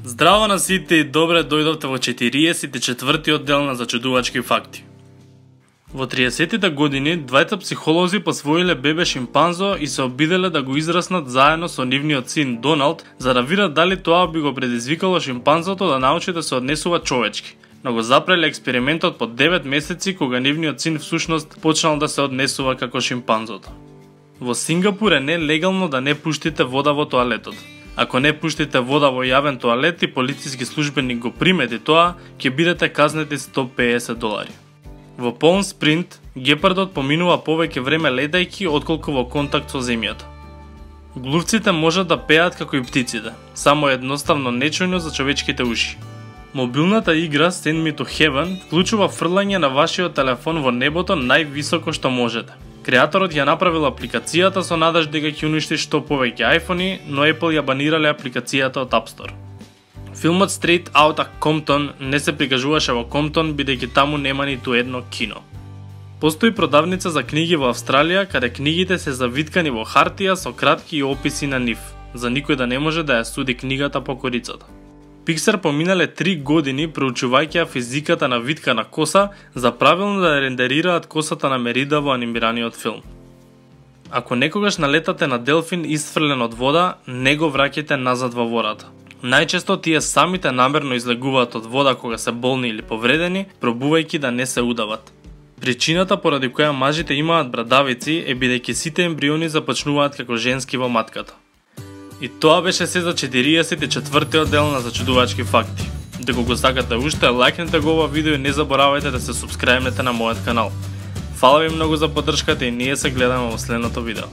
Здраво на сите и добре дојдовте во 44-тиот дел на Зачудувачки факти. Во 30-тите години, двајца психолози посвоиле бебе шимпанзо и се обиделе да го израснат заедно со нивниот син Доналд, за да видат дали тоа би го предизвикало шимпанзото да научи да се однесува човечки. Но го запреле експериментот по 9 месеци кога нивниот син всушност почнал да се однесува како шимпанзото. Во Сингапур е нелегално да не пуштите вода во тоалетот. Ако не пуштите вода во јавен тоалет и полициски службеник го примети тоа, ќе бидете казнети $150. Во Полм Спринт, гепардот поминува повеќе време летајки отколку во контакт со земјата. Глувците можат да пеат како и птиците, само едноставно нечујно за човечките уши. Мобилната игра Send Me to Heaven вклучува фрлање на вашиот телефон во небото највисоко што можете. Креаторот ја направил апликацијата со надеж дека ќе уништи што повеќе iPhone-и, но Apple ја банирале апликацијата од App Store. Филмот Straight Outta Compton не се прикажуваше во Комптон, бидејќи таму нема ниту едно кино. Постои продавница за книги во Австралија, каде книгите се завиткани во хартија со кратки описи на нив, за никој да не може да ја суди книгата по корицата. Pixar поминале 3 години проучувајќи физиката на витка на коса за правилно да рендерираат косата на Мерида во анимираниот филм. Ако некогаш налетате на делфин исфрлен од вода, не го враќајте назад во водата. Најчесто тие самите намерно излегуваат од вода кога се болни или повредени, пробувајќи да не се удават. Причината поради која мажите имаат брадавици е бидејќи сите ембриони започнуваат како женски во матката. И тоа беше се за 44-тиот дел на Зачудувачки факти. Дека го сакате уште, лајкнете го ова видео и не заборавајте да се супскрајбнете на мојот канал. Фала ви многу за поддршката и ние се гледаме во следното видео.